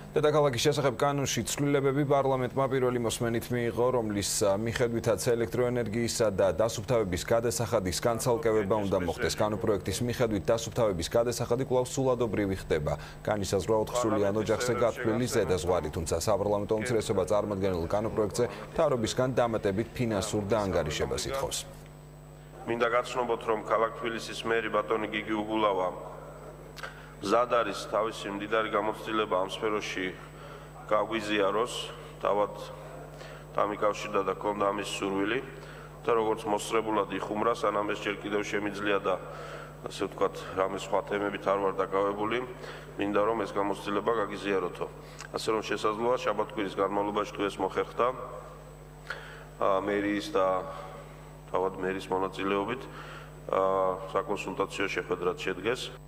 დედაქალაქის შესახებ კანონში ცვლილებები პარლამენტმა პირველი მოსმენით მიიღო, რომლის მიხედვითაც ელექტროენერგიისა და დასუფთავების გადასახადის განცალკევება უნდა მოხდეს. კანონპროექტის მიხედვით დასუფთავების გადასახადი კვლავ სულადობრივი ხდება. განისაზღვრა 4-სულიან ოჯახზე გათვლილი ზედაზღვარი, თუმცა საპარლამენტო უმცირესობა წარმოადგენელ კანონპროექტზე მთავრობისგან დამატებით ფინანსურ დაანგარიშებას ითხოვს. მინდა გაცნობოთ, რომ ქალაქ თბილისის მერი ბატონი გიგი უგულავა მზად არის თავისი მდიდარი გამოცდილება ამ სფეროში გაგვიზიაროს, თავად დამიკავშირდა და ჰქონდა ამის სურვილი და როგორც მოსწრებულად იხუმრა, სანამ ეს ჯერ კიდევ შემიძლია და ასე ვთქვათ, რამე სხვა თემებით არ ვარ დაკავებული, მინდა რომ ეს გამოცდილება გაგიზიაროთო. ასე რომ შესაძლოა შაბათ-კვირის განმავლობაში თუ ეს მოხერხდა მერიის და თავად მერის მონაწილეობით საკონსულტაციო შეხვედრაც შედგეს.